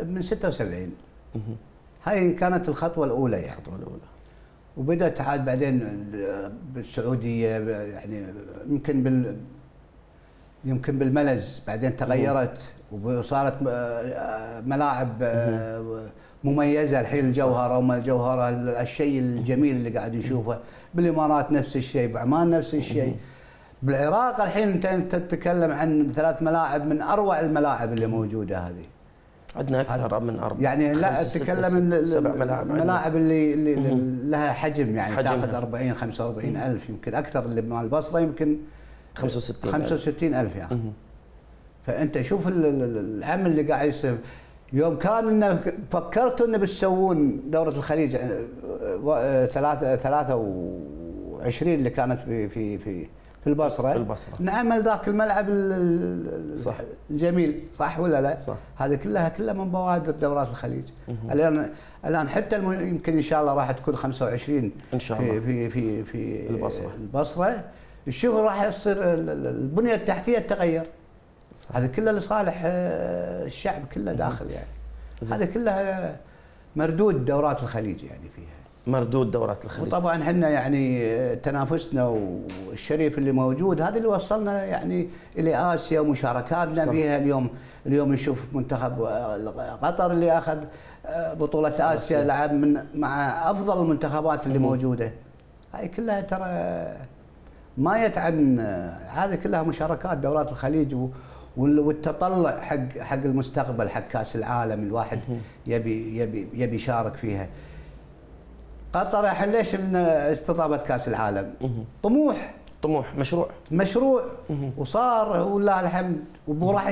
من 76. هاي كانت الخطوه الاولى يعني. الخطوه الاولى. وبدات عاد بعدين بالسعوديه يعني يمكن بالملز بعدين تغيرت وصارت ملاعب مميزه الحين الجوهره وما الجوهره الشيء الجميل اللي قاعد نشوفه. بالامارات نفس الشيء، بعمان نفس الشيء. بالعراق الحين انت تتكلم عن 3 ملاعب من اروع الملاعب اللي موجوده هذه. عندنا اكثر من 4 يعني لا اتكلم 7 ملاعب. الملاعب اللي لها حجم يعني تاخذ 40 45 الف يمكن اكثر. اللي مال البصره يمكن 65 الف يعني. فانت شوف العمل اللي قاعد يصير. يوم كان فكرتوا انه بتسوون دوره الخليج 23 اللي كانت في البصره. نعمل ذاك الملعب صح. الجميل، صح ولا لا؟ صح. هذه كلها من بوادر دورات الخليج. الان حتى يمكن ان شاء الله راح تكون 25 ان شاء الله في البصره. شوف راح يصير البنيه التحتيه تتغير. هذا كله لصالح الشعب كله داخل يعني. هذا كلها مردود دورات الخليج يعني فيها. مردود دورات الخليج. وطبعا احنا يعني تنافسنا والشريف اللي موجود هذا اللي وصلنا يعني الى اسيا ومشاركاتنا صح. فيها اليوم نشوف منتخب قطر اللي اخذ بطوله اسيا لعب مع افضل المنتخبات اللي موجوده. هاي كلها ترى ما يتعن. هذه كلها مشاركات دورات الخليج والتطلع حق المستقبل، حق كاس العالم. الواحد يبي يشارك فيها. قطر الحين ليش من استضافت كاس العالم؟ طموح مشروع وصار ولله الحمد. وراح